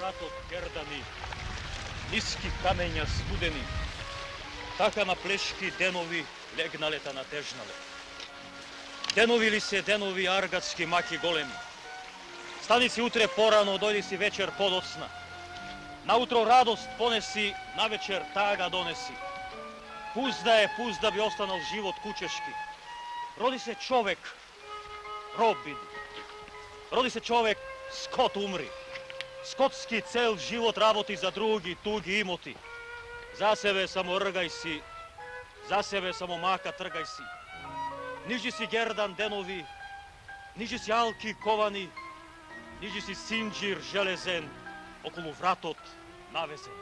вратот гердани, ниски камења студени, така на плешки денови легналета натежнале. Денови ли се денови аргатски маки големи? Стани си утре порано, дојди си вечер подоцна. Наутро радост понеси, навечер тага донеси. Пузда би останал живот кучешки. Роди се човек, роб биди. Роди се човек, скот умри. Скотски цел живот работи за други, туги имоти. За себе само ргај си, за себе само мака тргај си. Нижи си гердан денови, нижи си алки ковани, нижи си синџир железен, околу вратот навезен.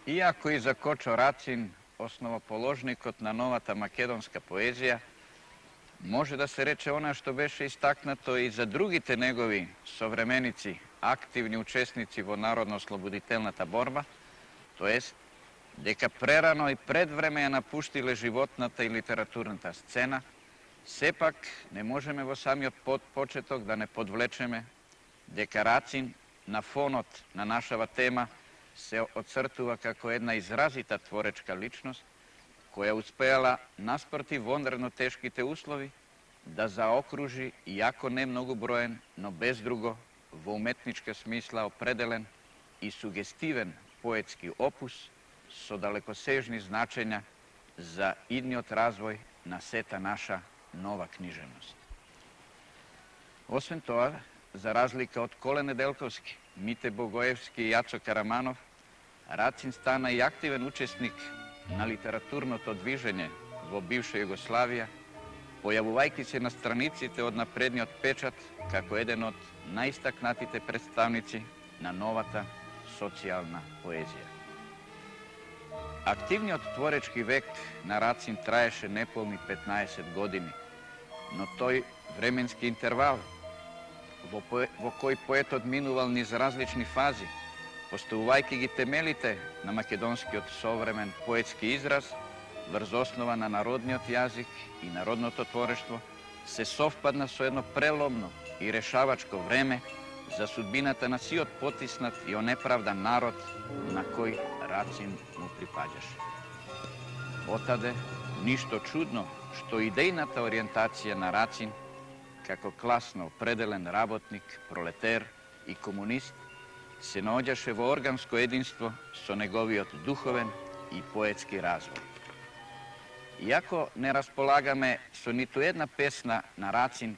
Иако и за Кочо Рацин, основоположникот на новата македонска поезија, може да се рече она што беше истакнато и за другите негови современици, активни учесници во народно-ослободителната борба, тоест дека прерано и пред време ја напуштиле животната и литературната сцена, сепак не можеме во самиот почеток да не подвлечеме дека Рацин на фонот на нашава тема се оцртува како една изразита творечка личност, која успеала наспроти вонредно тешките услови да заокружи, иако не многу броен, но без друго, во уметничка смисла определен и сугестивен поетски опус со далекосежни значења за идниот развој на сета наша нова книжевност. Освен тоа, за разлика од Коле Неделковски, Мите Богоевски и Јацо Караманов, Рацин стана и активен учесник на литературното движење во бивша Југославија, појавувајќи се на страниците од напредниот печат како еден од најистакнатите представници на новата социјална поезија. Активниот творечки век на Рацин траеше неполни 15 години, но тој временски интервал во кој поетот минувал низ различни фази, поставувајќи ги темелите на македонскиот современ поетски израз врз основа на народниот јазик и народното творештво, се совпадна со едно преломно и решавачко време за судбината на сиот потиснат и онеправдан народ на кој Рацин му припаѓаше. Отаде, ништо чудно што идејната ориентација на Рацин како класно определен работник, пролетер и комунист се наоѓаше во органско единство со неговиот духовен и поетски развој. Иако не располагаме со ниту една песна на Рацин,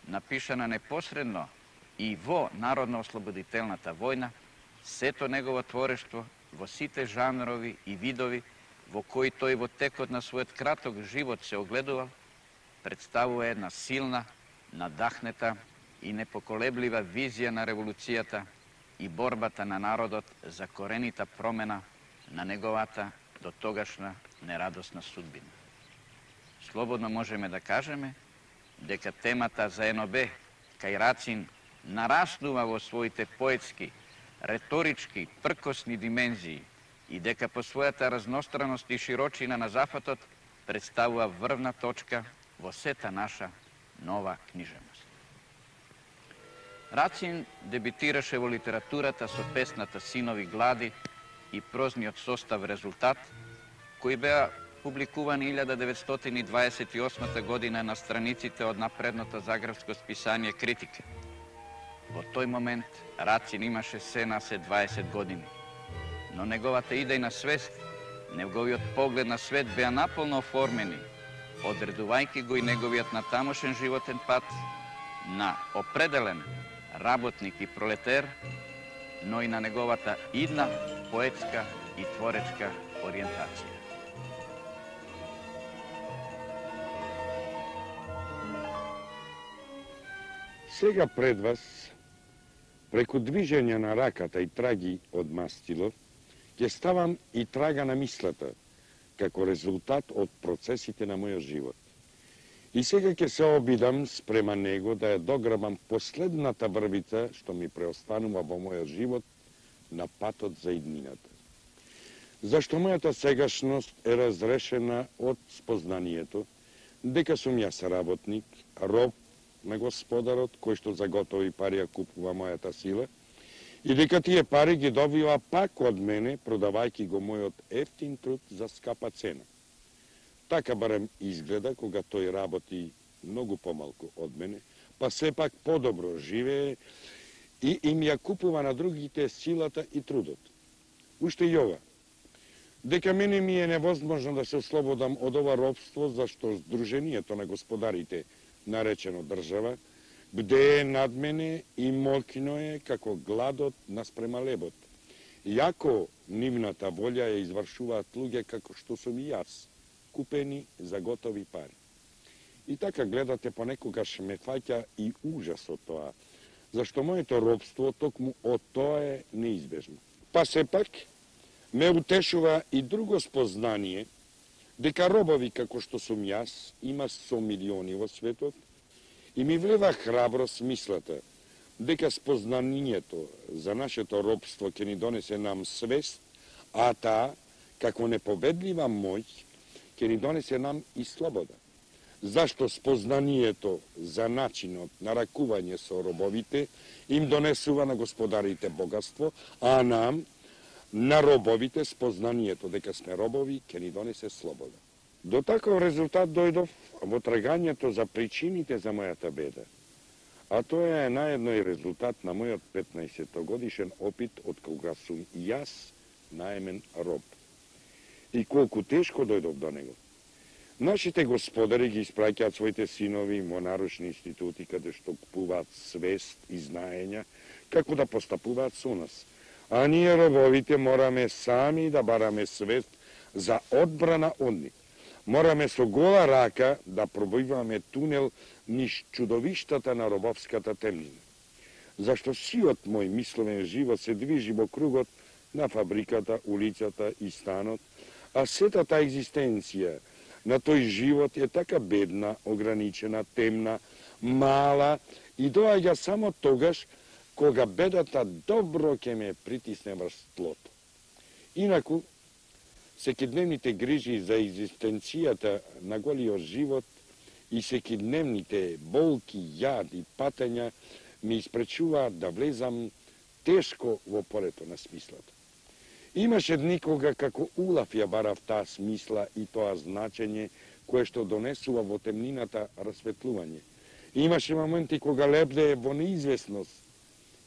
напишана непосредно и во Народно-ослободителната војна, сето негово творештво во сите жанрови и видови во кои тој во текот на својот краток живот се огледувал, представува една силна, надахнета и непоколеблива визија на револуцијата и борбата на народот за коренита промена на неговата до тогашна нерадосна судбина. Слободно можеме да кажеме дека темата за НОБ кај Рацин нараснува во своите поетски, реторички, пркосни димензии и дека по својата разностраност и широчина на зафатот представува врвна точка во сета наша нова книжевност. Рацин дебитираше во литературата со песната Синови глади и прозниот состав Резултат, кои беа публикувани 1928 година на страниците од напредното загревско списание Критика. Во тој момент Рацин имаше се на 20 години, но неговата идејна свест, неговиот поглед на свет беа наполно оформени, одредувајќи го и неговиот натамошен животен пат на определен, работник и пролетер, но и на неговата идна, поетска и творечка ориентација. Сега пред вас, преку движење на раката и траги од мастило, ќе ставам и трага на мислата, како резултат од процесите на мојот живот. И сега ќе се обидам спрема него да ја дограбам последната врвица што ми преостанува во мојот живот на патот за иднината. Зашто мојата сегашност е разрешена од спознанието дека сум јас работник, роб на Господарот, кој што за готови пари ја купува мојата сила, и дека тие пари ги добива пак од мене, продавајќи го мојот ефтин труд за скапа цена. Така барем изгледа кога тој работи многу помалку од мене, па сепак подобро живее и им ја купува на другите силата и трудот. Уште и ова, дека мене ми е невозможно да се ослободам од ова робство, зашто Сдруженијето на господарите, наречено држава, бдее над мене и молкино е како гладот наспрема лебот. Иако нивната волја ја извршуваат луѓе како што сум и јас, купени за готови пари. И така гледате, понекогаш ме фаќа и ужас од тоа, зашто моето робство токму од тоа е неизбежно. Па сепак, ме утешува и друго спознание, дека робови како што сум јас има со милиони во светот и ми влева храброст мислата дека спознанието за нашето робство ќе ни донесе нам свест, а таа, како непобедлива моќ, ќе ни донесе нам и слобода. Зашто спознанието за начинот на ракување со робовите им донесува на господарите богатство, а нам, на робовите, спознанието дека сме робови ќе ни донесе слобода. До таков резултат дојдов во трагањето за причините за мојата беда. А тоа е наедно и резултат на мојот 15-годишен опит од кога сум и јас наемен роб. И колку тешко дојдов до него. Нашите господари ги испраќаат своите синови во наручни институти каде што купуваат свест и знаења како да постапуваат со нас. А ние робовите мораме сами да бараме свест за одбрана од нив. Мораме со гола рака да пробиваме тунел низ чудовиштата на робовската темнина. Зашто сиот мој мисловен живот се движи во кругот на фабриката, улицата и станот, а сета таа екзистенција на тој живот е така бедна, ограничена, темна, мала и доаѓа само тогаш кога бедата добро ќе ме притисне врз тлото. Инаку, секидневните грижи за екзистенцијата на голиот живот и секидневните болки, јад и патења ми испречуваат да влезам тешко во полето на смислата. Имаше дни кога како улав ја барав таа смисла и тоа значење кое што донесува во темнината расветлување. Имаше моменти кога лебдее во неизвестност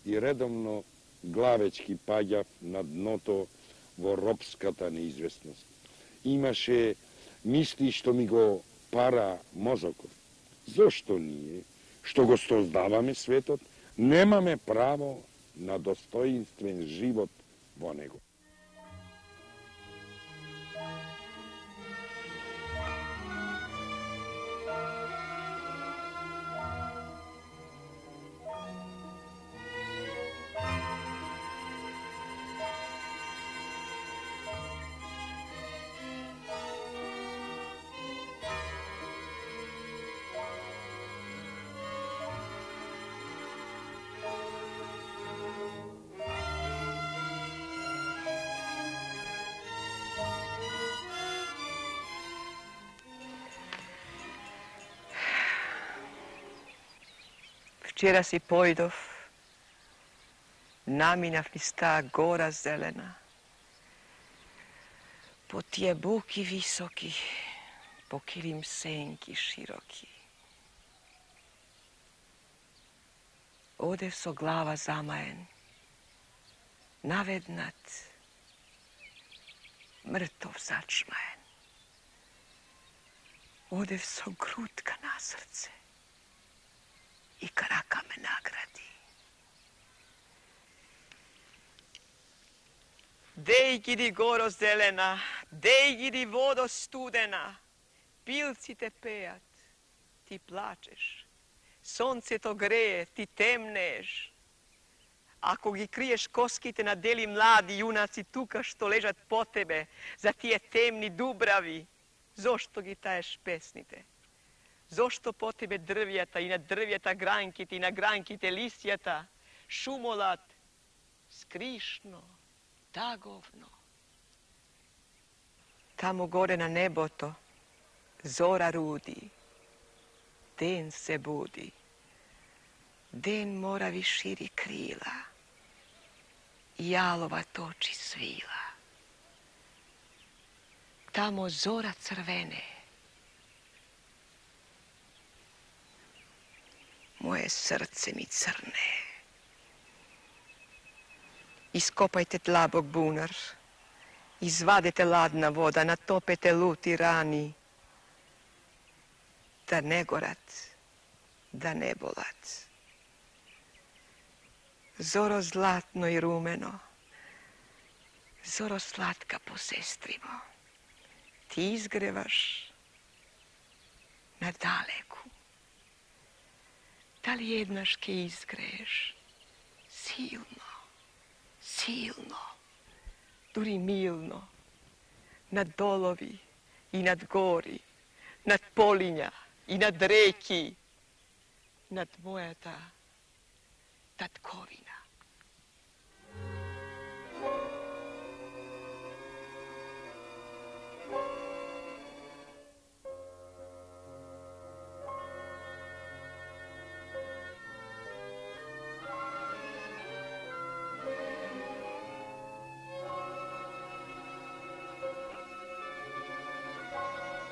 и редовно главечки паѓав на дното во робската неизвестност. Имаше мисли што ми го пара мозокот. Зошто ние, што го создаваме светот, немаме право на достоинствен живот во него? Вчера си појдов, наминав низ таа гора зелена, по тие буки високи, по килим сенки широки. Одев со глава замаен, наведнат, мртов зачмаен. Одев со грудка на срце и крака ме награди. Dej gidi goro zelena, dej gidi vodo studena, pilci te pejat, ti plačeš, sonce to greje, ti temneš. Ako gi kriješ koskite na deli mladi junaci tuka što ležat po tebe, za tije temni dubravi, zašto gi taješ pesnite? Zašto po tebe drvjeta i na drvjeta grankite i na grankite lisjata, šumolat, skrišno, tagovno. Tamo gore na neboto zora rudi, den se budi, den moravi širi krila, jalova toči svila. Tamo zora crvene, moje srce mi crne. Iskopajte tlabok bunar, izvadite ladna voda, natopete luti rani, da ne gorat, da ne bolat. Zoro zlatno i rumeno, zoro slatka po sestrimo, ti izgrevaš na daleku. Da li jednaške izgreješ silno, silno, duri milno, nad dolovi i nad gori, nad polinja i nad reki, nad moja ta tatkovina.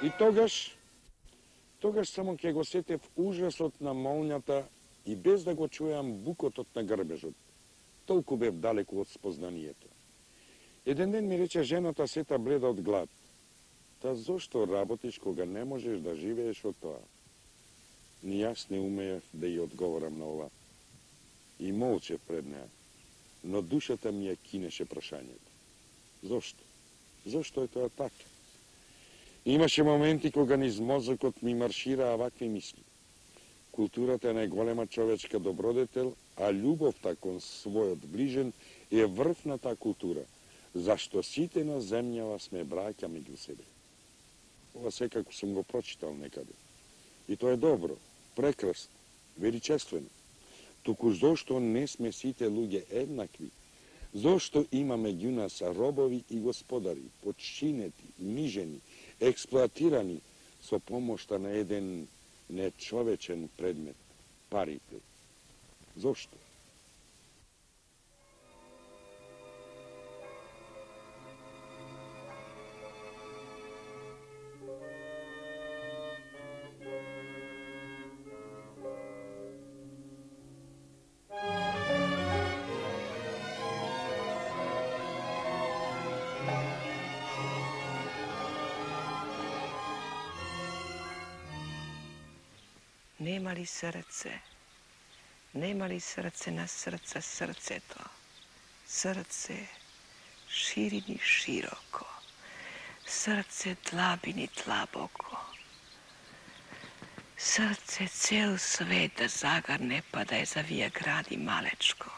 И тогаш само ќе го сетев ужасот на молњата и без да го чујам букотот на грбежот. Толку бев далеку од спознанието. Еден ден ми рече жената сета бледа од глад. Та зошто работиш кога не можеш да живееш од тоа? Ни јас не умеев да ја одговорам на ова. И молчев пред неа, но душата ми ја кинеше прашањето. Зошто? Зошто е тоа така? Имаше моменти кога низ мозокот ми маршираа вакви мисли. Културата е најголема човечка добродетел, а љубовта кон својот ближен е врв на таа култура, зашто сите на земјава сме браќа меѓу себе. Ова секако сум го прочитал некаде. И тоа е добро, прекрасно, величествено. Туку зошто не сме сите луѓе еднакви? Зошто има меѓу нас робови и господари, подчинети, унижени, експлоатирани со помошта на еден нечовечен предмет, парите? Зошто? Nema li srce? Nema li srce na srca srceto? Srce širini široko, srce tlabini tlaboko. Srce cel svet da zagarne pa da je zavija gradi malečko.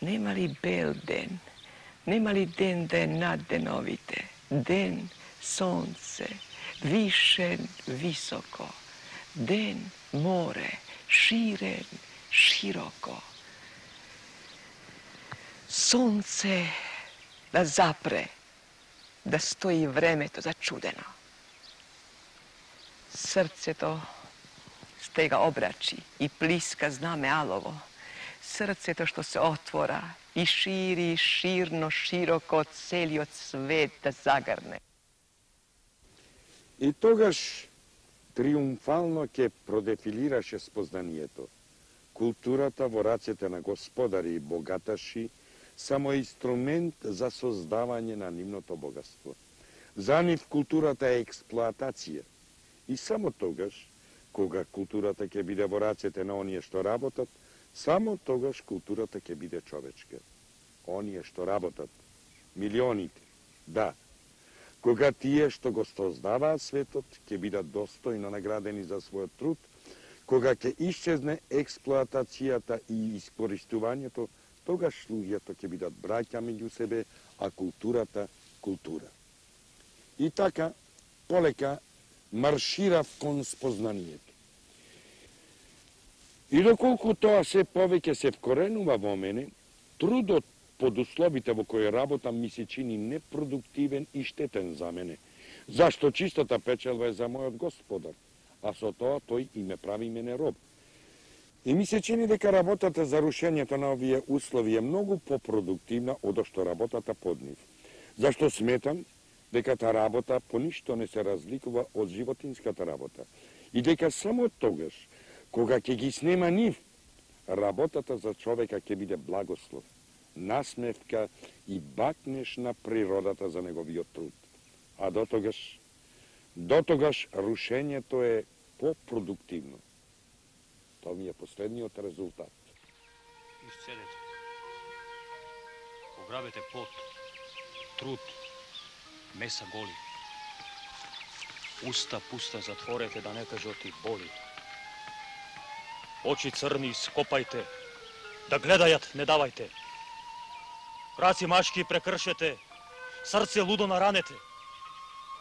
Nema li bel den? Nema li den da je naddenovite? Den, sonce, višen, visoko. Den, more, širen, široko. Sonce da zapre, da stoji vremeto začudeno. Srce to stega obrači i pliska zname alovo. Srce to što se otvora i širi širno, široko, celi svet da zagarne. И тогаш триумфално ќе продефилираше спознанието. Културата во рацете на господари и богаташи само е инструмент за создавање на нивното богатство. За нив културата е експлоатација. И само тогаш, кога културата ќе биде во рацете на оние што работат, само тогаш културата ќе биде човечка. оние што работат, милионите, да. Кога тие што го создаваат светот ќе бидат достојно наградени за својот труд, кога ќе исчезне експлоатацијата и искористувањето, тогаш луѓето ќе бидат браќа меѓу себе, а културата култура. И така, полека марширав кон спознанието. И доколку тоа се повеќе се вкоренува во мене, трудот под условите во кои работам ми се чини непродуктивен и штетен за мене, зашто чистата печелба е за мојот господар, а со тоа тој и ме прави мене роб. И ми се чини дека работата за рушењето на овие услови е многу попродуктивна од што работата под нив. Зашто сметам дека таа работа по ништо не се разликува од животинската работа и дека само тогаш, кога ќе ги снема нив, работата за човека ќе биде благослов, насмевка и бакнеш на природата за неговиот труд. А дотогаш рушењето е попродуктивно. Тоа ми е последниот резултат. Исцедете. Пограбете пот, труд, меса голи. Уста пуста затворете, да не кажат и боли. Очи црни скопајте, да гледајат не давајте. Раци машки прекршете, срце лудо наранете.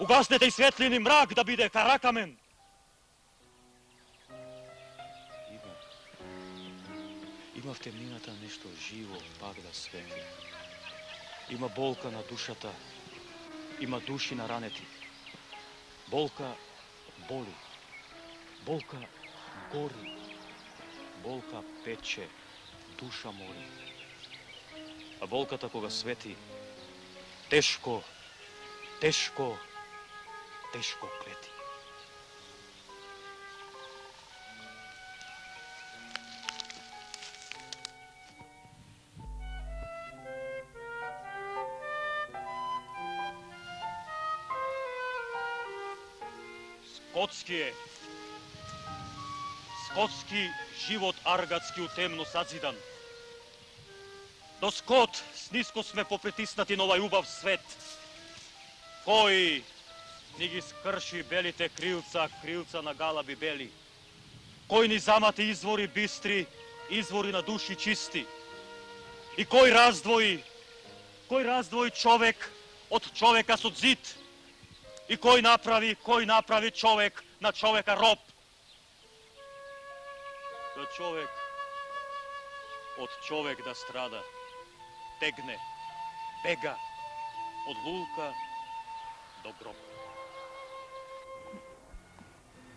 Угаснете и светлини мрак да биде каракамен. Има в темнината нешто живо пак да светли. Има болка на душата, има души наранети. Болка боли, болка гори, болка пече, душа мори. А болката кога свети, тешко, тешко, тешко клети. Скотски живот аргатски у темно сазидан. До скот сниско сме попритиснати на овај убав свет. Кој ни ги скрши белите крилца, крилца на галаби бели. Кој ни замати извори бистри, извори на души чисти. И кој раздвои човек од човека со зид. И кој направи човек на човека роб. Да човек од човек да страда, тегне, бега од лулка до гроб.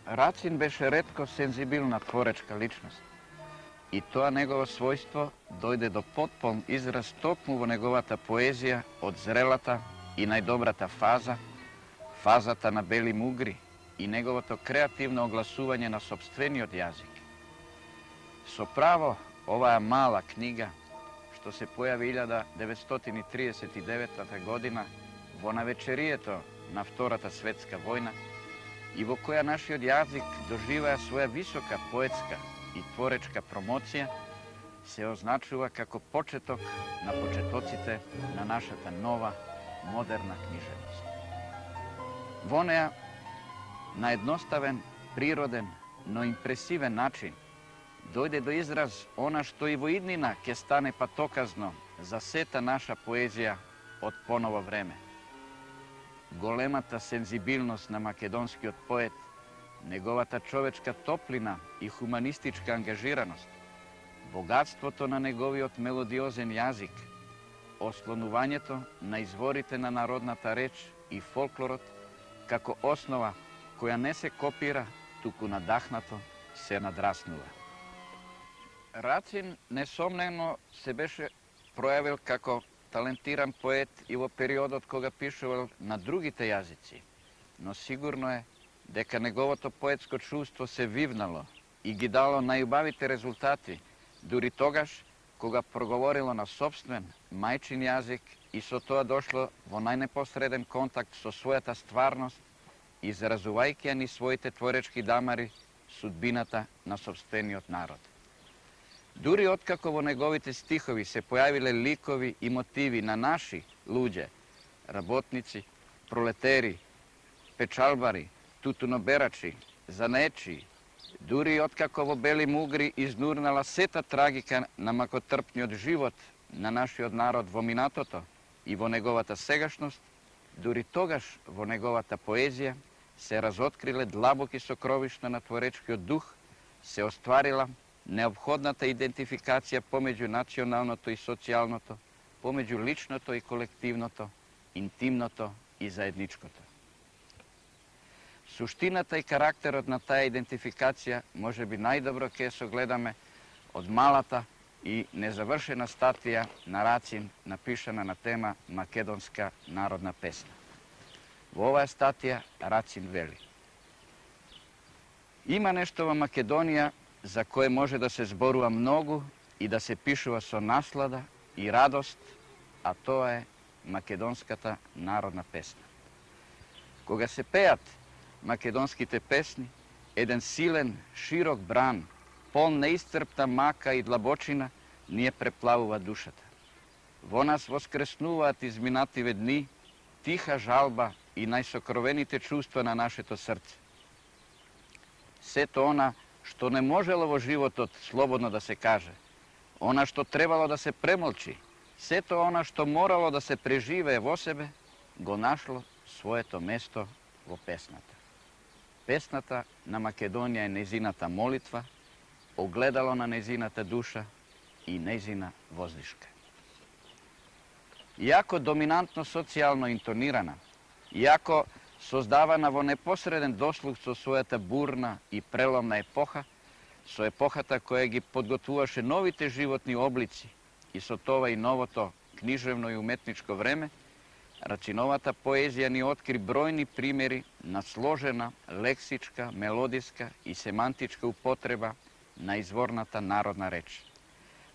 Рацин беше ретко сензибилна творечка личност. И тоа негово својство дојде до потполн израз токму во неговата поезија од зрелата и најдобрата фаза, фазата на бели мугри и неговото креативно огласување на сопствениот јазик. Со право, оваа мала книга, што се појави 1939 година во навечерието на Втората светска војна и во која нашиот јазик доживеа своја висока поетска и творечка промоција, се означува како почеток на почетоците на нашата нова, модерна книжевност. Во неа, на едноставен, природен, но импресивен начин, дојде до израз она што и во иднина ќе стане патоказно за сета наша поезија од поново време. Големата сензибилност на македонскиот поет, неговата човечка топлина и хуманистичка ангажираност, богатството на неговиот мелодиозен јазик, ослонувањето на изворите на народната реч и фолклорот како основа која не се копира, туку надахнато се надраснува. Рацин несомнено се беше пројавил како талентиран поет и во периодот кога пишувал на другите јазици, но сигурно е дека неговото поетско чувство се вивнало и ги дало најубавите резултати, дури тогаш кога проговорило на собствен мајчин јазик и со тоа дошло во најнепосреден контакт со својата стварност, изразувајќи ни своите творечки дамари судбината на собствениот народ. Дури откако во неговите стихови се појавиле ликови и мотиви на наши луѓе, работници, пролетери, печалбари, тутуноберачи, занаечи, дури откако во Бели Мугри изнурнала сета трагика на макотрпниот живот на нашиот народ во минатото и во неговата сегашност, дури тогаш во неговата поезија се разоткриле длабоки сокровишта на творечкиот дух, се остварила необходната идентификација помеѓу националното и социјалното, помеѓу личното и колективното, интимното и заедничкото. Суштината и карактерот на таа идентификација може би најдобро ќе се гледаме од малата и незавршена статија на Рацин, напишана на тема Македонска народна песна. Во оваа статија Рацин вели: има нешто во Македонија за кое може да се зборува многу и да се пишува со наслада и радост, а тоа е македонската народна песна. Кога се пеат македонските песни, еден силен, широк бран, полн неисцрпна мака и длабочина, ни ја преплавува душата. Во нас воскреснуваат изминативе дни, тиха жалба и најсокровените чувства на нашето срце. Сето она што не можело во животот слободно да се каже, она што требало да се премолчи, сето она што морало да се преживее во себе, го нашло своето место во песната. Песната на Македонија е незината молитва, огледало на незината душа и незина воздишка. Иако доминантно социјално интонирана, иако создавана во непосреден дослуг со својата бурна и преломна епоха, со епохата која ги подготвуваше новите животни облици и со тоа и новото книжевно и уметничко време, Рациновата поезија ни откри бројни примери на сложена лексичка, мелодиска и семантичка употреба на изворната народна реч.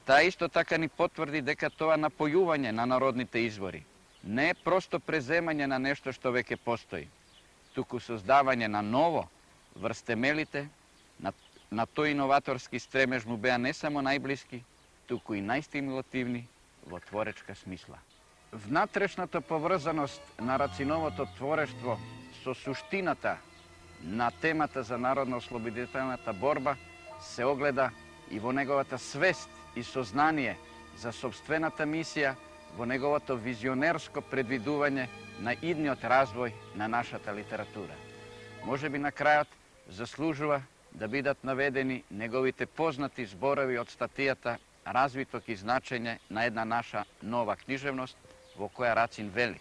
Таа исто така ни потврди дека тоа напојување на народните извори не е просто преземање на нешто што веќе постои, туку создавање на ново врз темелите, на тој иноваторски стремеж му беа не само најблиски, туку и најстимулативни во творечка смисла. Внатрешната поврзаност на Рациновото творештво со суштината на темата за народно-ослободителната борба се огледа и во неговата свест и сознание за собствената мисија, во неговото визионерско предвидување на идниот развој на нашата литература. Може би на крајот заслужува да бидат наведени неговите познати зборови од статијата "Развиток и значење на една наша нова книжевност", во која Рацин вели: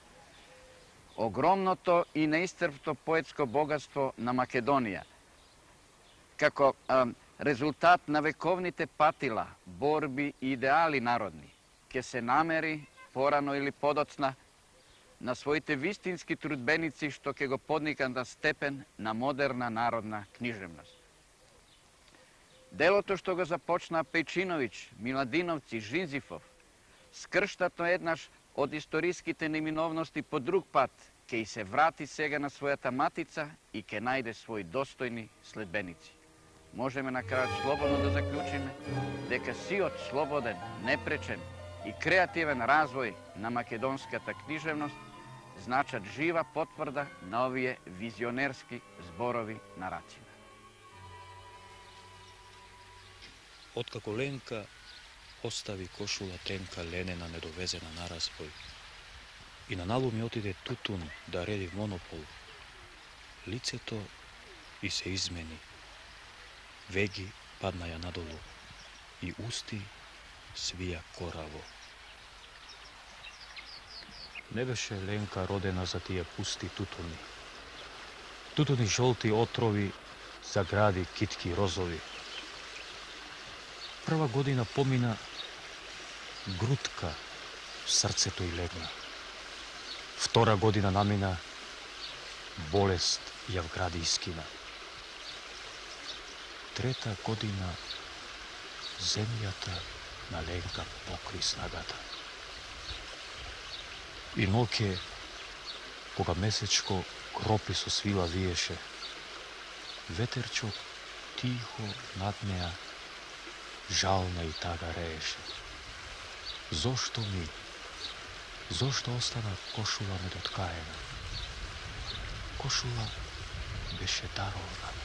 огромното и неисцрпно поетско богатство на Македонија, како резултат на вековните патила, борби и идеали народни, ќе се намери порано или подоцна на своите вистински трудбеници што ќе го подникат на степен на модерна народна книжевност. Делото што го започна Пејчиновиќ, Миладиновци, Жинзифов, скрштатно еднаш од историските неминовности по друг пат, ќе и се врати сега на својата матица и ќе најде своји достојни следбеници. Можеме на крајот слободно да заклучиме дека сиот слободен, непречен и креативен развој на македонската книжевност значат жива потврда на овие визионерски зборови на Рацин. Откако Ленка остави кошула тенка ленена недовезена на разбој и на налу ми отиде Тутун да реди монопол, лицето и се измени, веги паднаја надолу и усти свија кораво. Не беше Ленка родена за тие пусти тутуни. Тутуни жолти отрови, загради китки розови. Прва година помина, грудка в срцето й легна. Втора година намина, болест ја вгради и скина. Трета година земјата на Ленка покри снагата. И ноќе, кога месечко кропи со свила виеше, ветерчок тихо над неа жална и тага рееше. Зошто ми? Зошто остана кошула недоткаена? Кошула беше даровна.